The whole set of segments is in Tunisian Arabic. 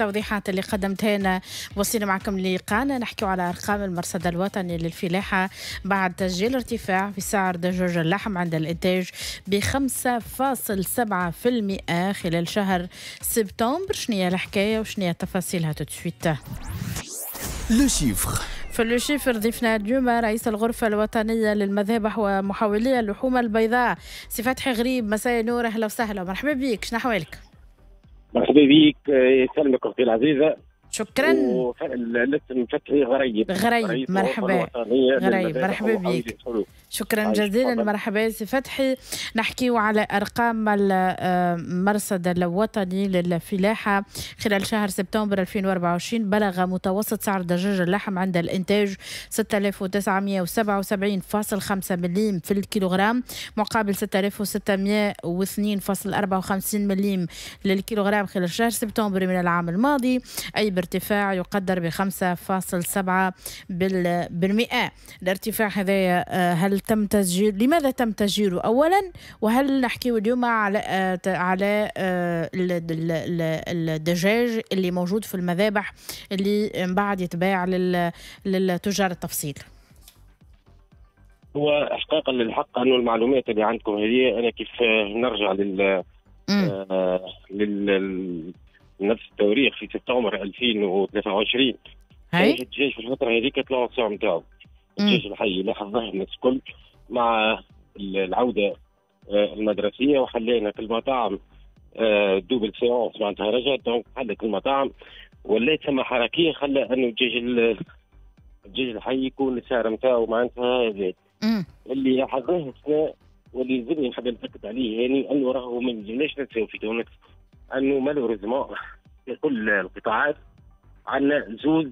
التوضيحات اللي قدمتها لنا. وصلنا معكم لقانا نحكيو على ارقام المرصد الوطني للفلاحه بعد تسجيل ارتفاع في سعر دجاج اللحم عند الانتاج ب 5.7% خلال شهر سبتمبر. شنو هي الحكاية وشنو هي تفاصيلها؟ tout de suite. le chiffre. في le chiffre ضيفنا اليوم رئيس الغرفة الوطنية للمذابح ومحولي اللحوم البيضاء سي فتحي غريب. مساء نور، أهلا وسهلا ومرحبا بك، شنو أحوالك؟ مرحبا بك، يسلمك أختي العزيزة. شكرا. الاسم فتحي غريب. غريب، مرحبا. غريب، مرحبا بك. شكرا جزيلا، مرحبا سي فتحي. نحكيو على ارقام المرصد الوطني للفلاحه خلال شهر سبتمبر 2024. بلغ متوسط سعر دجاج اللحم عند الانتاج 6977.5 مليم في الكيلوغرام مقابل 6602.54 مليم للكيلوغرام خلال شهر سبتمبر من العام الماضي، اي بارتفاع يقدر ب 5.7%. الارتفاع هذا هل تم تسجيل؟ لماذا تم تسجيله اولا؟ وهل نحكي اليوم على الدجاج اللي موجود في المذابح اللي من بعد يتباع للتجار التفصيل؟ هو احقاقا للحق انه المعلومات اللي عندكم هذه، انا كيف نرجع لل نفس التواريخ في سبتمبر 2023، الدجاج في الفترة هذيك طلعوا السعر نتاعو، الدجاج الحي لاحظناه الناس الكل مع العودة المدرسية، وحلينا في المطاعم double séance معناتها رجعت، donc حلت المطاعم ولات ثم حركية خلى انه الدجاج الحي يكون السعر نتاعو معناتها زاد. اللي لاحظناه السنة واللي يلزمني نحب نتاكد عليه يعني انه راهو ما نجمناش ننساو في تونس انه malheureusement في كل القطاعات عندنا زوز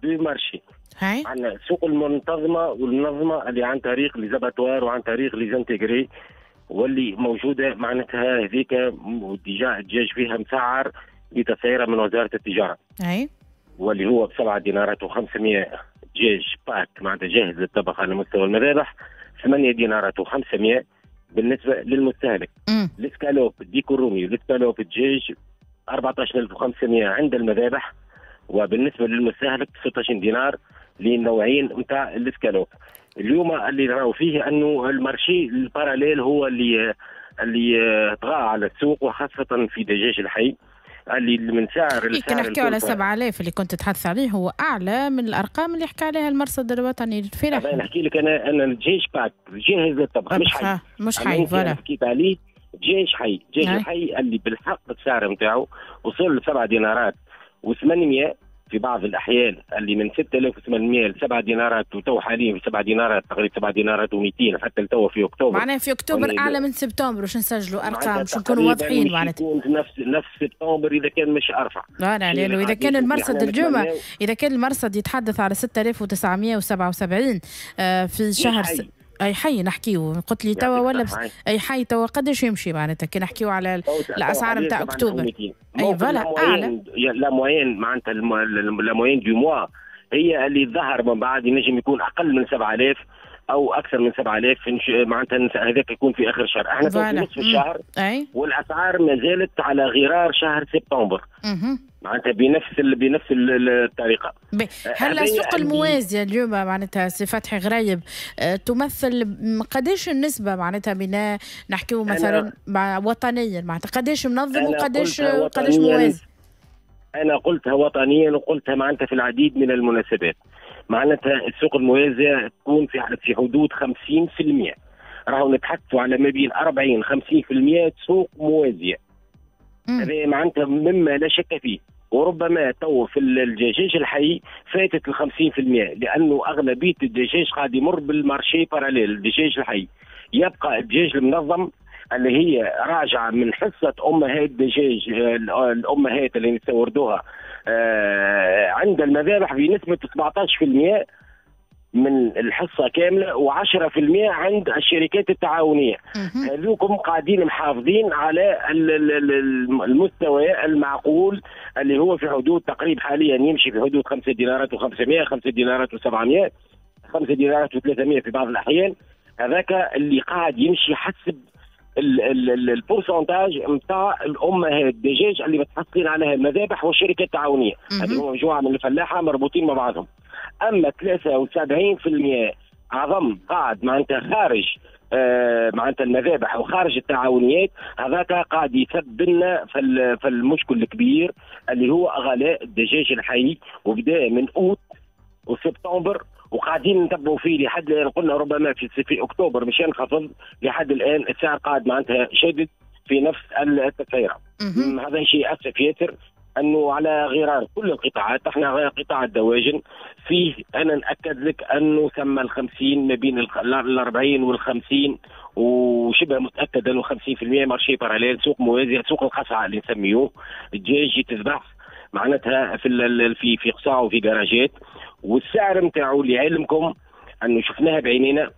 deux marchés. عندنا السوق المنتظمه والمنظمه اللي عن طريق les abattoirs وعن طريق les intégrés واللي موجودة معناتها هذيك déjà الدجاج فيها مسعر بتسعيره من وزارة التجارة. واللي هو ب7 دينارات و500 دجاج pack معناتها جاهز للطبخ على مستوى المذابح، 8 دينارات و500 بالنسبة للمستهلك. الاسكالوب الديك الرومي والاسكالوب الدجاج 14500 عند المذابح، وبالنسبة للمستهلك 16 دينار للنوعين نتاع الاسكالوب. اليوم اللي نراو فيه انه ال marché ال parallèle هو اللي طغى على السوق، وخاصة في دجاج الحي اللي من سعر السعر نحكيو على 7000 اللي كنت تتحدث عليه هو اعلى من الارقام اللي حكى عليها المرصد الوطني للفلاحه. نحكي لك انا الدجاج pack جاهز للطبخ مش حي، مش حي voilà حكيت عليه دجاج حي، دجاج الحي اللي بالحق السعر نتاعو وصل ل 7 دينارات و800 في بعض الاحيان، اللي من 6800 ل 7 دينارات، وتو حاليا في 7 دينارات تقريبا 7 دينارات و200 حتى لتو في اكتوبر. معناها في اكتوبر اعلى من سبتمبر باش نسجلوا ارقام باش نكونوا واضحين، معناتها يكون نفس سبتمبر اذا كان مش ارفع. لا لانه اذا كان المرصد اليوم اذا كان المرصد يتحدث على 6977 في شهر اي حي نحكيو، قلت لي توا ولا اي حي توا قداش يمشي معناتها كي نحكيو على الاسعار نتاع اكتوبر؟ اي voilà اعلى la moyenne معناتها la moyenne du mois هي اللي ظهر من بعد ينجم يكون اقل من 7000 او اكثر من 7000 معناتها هذاك يكون في اخر الشهر. احنا في نصف الشهر والاسعار ما زالت على غرار شهر سبتمبر معناتها بنفس الطريقة. هل السوق الموازيه اليوم معناتها سي فتحي غريب تمثل قداش النسبة معناتها بنا نحكيو مثلا وطنيا معناتها قداش منظم وقداش قداش موازي؟ انا قلتها وطنيا وقلتها معناتها في العديد من المناسبات، معناتها السوق الموازيه تكون في حدود 50%، راهو نتحدثوا على ما بين 40 50% سوق موازية. هذا معناتها مما لا شك فيه، وربما تو في الدجاج الحي فاتت ال 50% لانه اغلبية الدجاج قاعد يمر بال marché parallèle. الدجاج الحي يبقى الدجاج المنظم اللي هي راجعه من حصة امهات دجاج الامهات اللي نستوردوها عند المذابح بنسبة 17% من الحصة كاملة و10% عند الشركات التعاونية. هذوكم قاعدين محافظين على المستوى المعقول اللي هو في حدود تقريبا حاليا يمشي في حدود 5 دينارات و500، 5 دينارات و700، 5 دينارات و300 في بعض الاحيان. هذاك اللي قاعد يمشي حسب ال pourcentage نتاع الامهات الدجاج اللي متحصلين عليها المذابح والشركات التعاونية. هذه مجموعة من الفلاحة مربوطين مع بعضهم. اما 73% عظم قاعد معناتها خارج معناتها المذابح وخارج التعاونيات، هذاك قاعد يسبب لنا في المشكل الكبير اللي هو غلاء الدجاج الحي، وبدا من اوت وسبتمبر وقاعدين نتبعوا فيه لحد الان. قلنا ربما في اكتوبر مش ينخفض، لحد الان السعر قاعد معناتها شادد في نفس التسعيره. هذا شيء اسف ياسر انه على غرار كل القطاعات، احنا قطاع الدواجن فيه انا ناكد لك انه ثم ال50 ما بين ال40 وال50، وشبه متاكد انه 50% marché parallèle، سوق موازي، سوق القصعه اللي نسميوه. الدجاج يتذبح معناتها في في قصاع وفي جراجات، والسعر نتاعو لعلمكم انه شفناها بعينينا،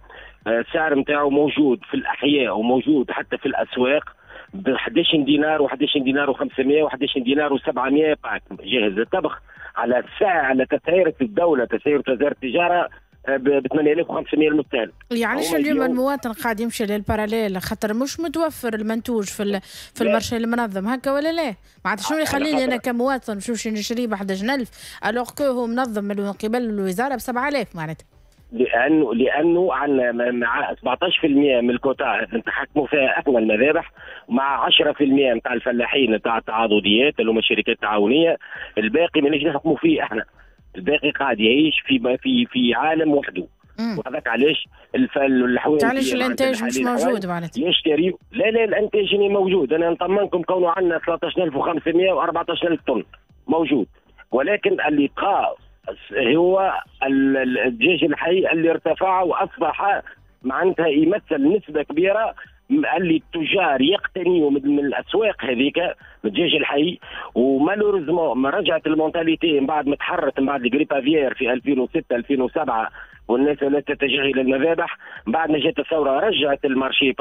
السعر نتاعو موجود في الاحياء وموجود حتى في الاسواق ب 11 دينار و11 دينار و500 و11 دينار و700 pack جاهز للطبخ، على السعر على تسعيره الدولة، تسعيره وزارة التجارة ب 8500 المستهلك. يعني علاش اليوم المواطن قاعد يمشي لل parallèle؟ خاطر مش متوفر المنتوج في ال marché المنظم هكا ولا لا؟ معناتها شنو يخليني انا كمواطن نمشي نشريه ب 11000 alors que هو منظم من قبل الوزارة ب 7000 معناتها؟ لانه عندنا مع 17% من الكوتا نتحكموا فيها احنا المذابح، مع 10% نتاع الفلاحين نتاع التعاضديات اللي هما الشركات التعاونية، الباقي ما نجمش نحكموا فيه احنا. الباقي قاعد يعيش في في في عالم وحده. وهذاك علاش الحوانت، علاش الانتاج مش موجود معناتها يشتري. لا لا، الانتاج موجود، انا نطمنكم كونه عندنا 13500 و14000 طن موجود، ولكن اللي بقى هو الدجاج الحي اللي ارتفع واصبح معناتها يمثل نسبه كبيرة اللي التجار يقتنيوا من الاسواق هذيك الدجاج الحي. و malheureusement ما رجعت ال mentalité من بعد ما تحرت من بعد ال grippe aviaire في 2006 2007 والناس لا تتجه الى المذابح. بعد ما جات الثورة رجعت ال marché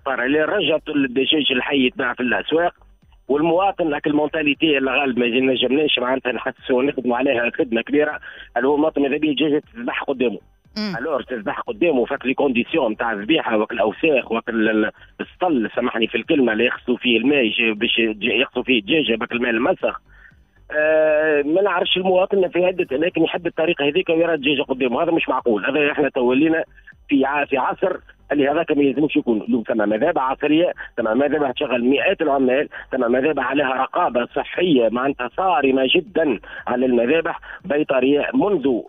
parallèle، رجعت الدجاج الحي يتباع في الاسواق، والمواطن لك ال mentalité اللي غالب ما نجمناش معناتها نحسوا ونخدموا عليها خدمة كبيرة، اللي هو المواطن ماذا بيه الدجاجة تذبح قدامه. alors تذبح قدامه فك les conditions نتاع الذبيحة وك الاوساخ وك السطل، سامحني في الكلمة، اللي يغسلوا فيه الماء باش يغسلوا فيه الدجاجة بك الماء المسخ. ما نعرفش المواطن في عده اماكن يحب الطريقة هذيك ويرى الدجاجة قدامه، هذا مش معقول. هذا احنا تولينا في عصر اللي هذاك ما يلزمش يكون. اليوم ثم مذابح عصرية، ثم مذابح تشغل مئات العمال، ثم مذابح عليها رقابه صحية معناتها صارمة جدا على المذابح بيطريه منذ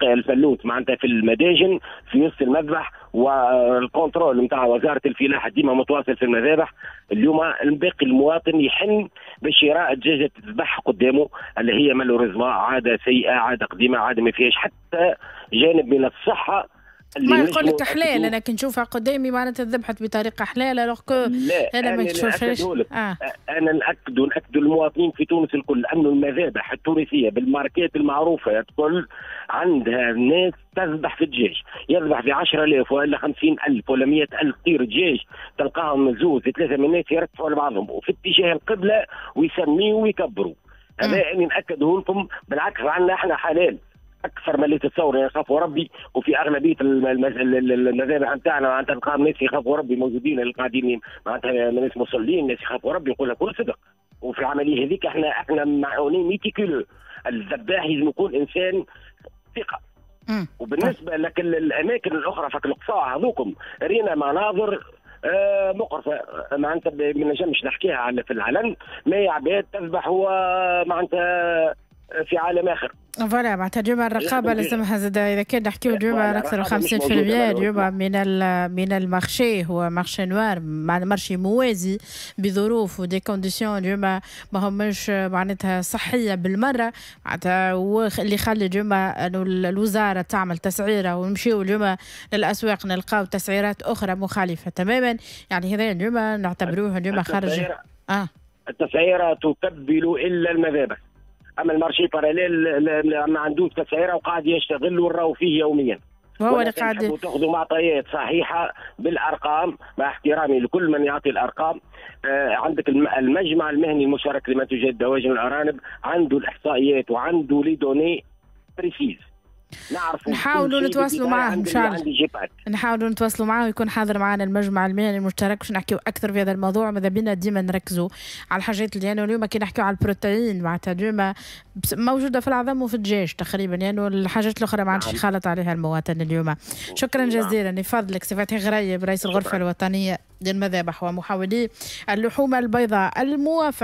الفلوت معناتها في المداجن في وسط المذبح، وال contrôle نتاع وزارة الفلاحة ديما متواصل في المذابح. اليوم باقي المواطن يحن باش يرى الدجاجة تذبح قدامه، اللي هي malheureusement عادة سيئه، عادة قديمة، عادة ما فيهاش حتى جانب من الصحة. ما يقول لك حلال، انا كي نشوفها قدامي معناتها ذبحت بطريقة حلال، alors que انا ما نشوفهاش. انا ناكد المواطنين في تونس الكل انه المذابح التونسية بالماركات المعروفة الكل عندها ناس تذبح في الدجاج، يذبح في 10000 ولا 50000 ولا 100000 طير دجاج، تلقاهم زوز ثلاثة من الناس يرتفعوا لبعضهم وفي اتجاه القبلة ويسميوا ويكبروا. هذا اني ناكده لكم. بالعكس عندنا احنا حلال اكثر ما اللي تتصور، يخافوا ربي، وفي اغلبية المذابح نتاعنا معناتها تلقاهم ناس يخافوا ربي موجودين اللي قاعدين معناتها ناس مصلين، ناس يخافوا ربي، يقول لك كل صدق. وفي العملية هذيك احنا معونين méticuleux، الذباح لازم يكون انسان ثقة. وبالنسبة لك الاماكن الاخرى فك القصاع هذوكم رينا مناظر مقرفة معناتها ما نجمش نحكيها على في العلن، ما عباد تذبح هو معناتها في عالم اخر. voilà معناتها اليوم الرقابة لازمها زاد، اذا كان نحكيو اليوم اكثر 50% اليوم من ال marché هو marché noir، مع marché موازي بظروف و des conditions اليوم ما همش معناتها صحية بالمرة، معناتها اللي خلى اليوم انه الوزارة تعمل تسعيره ونمشيو اليوم للاسواق نلقاو تسعيرات اخرى مخالفة تماما. يعني هذا اليوم نعتبروه اليوم خارج التسعيره تكبل الا المذابح، اما ال marché parallèle ما عندوش تسعيره وقاعد يشتغل وراو فيه يوميا. وهو اللي قاعد تاخذوا معطيات صحيحه بالارقام، مع احترامي لكل من يعطي الارقام. عندك المجمع المهني المشارك لمنتوجات الدواجن والارانب عنده الاحصائيات وعنده les données précises. نعرفوا نحاولوا نتواصلوا معاه ان شاء الله، نحاولوا نتواصلوا معاه ويكون حاضر معنا المجمع المهني المشترك باش نحكيو اكثر في هذا الموضوع. ماذا بينا ديما نركزوا على الحاجات اللي يعني اليوم كي نحكيو على البروتين معناتها اليوم موجودة في العظم وفي الدجاج تقريبا، يعني الحاجات الاخرى ما عادش يخالط عليها المواطن اليوم. شكرا جزيلا لفضلك سي فتحي غريب، رئيس الغرفة الوطنية للمذابح ومحولي اللحوم البيضاء الموافق.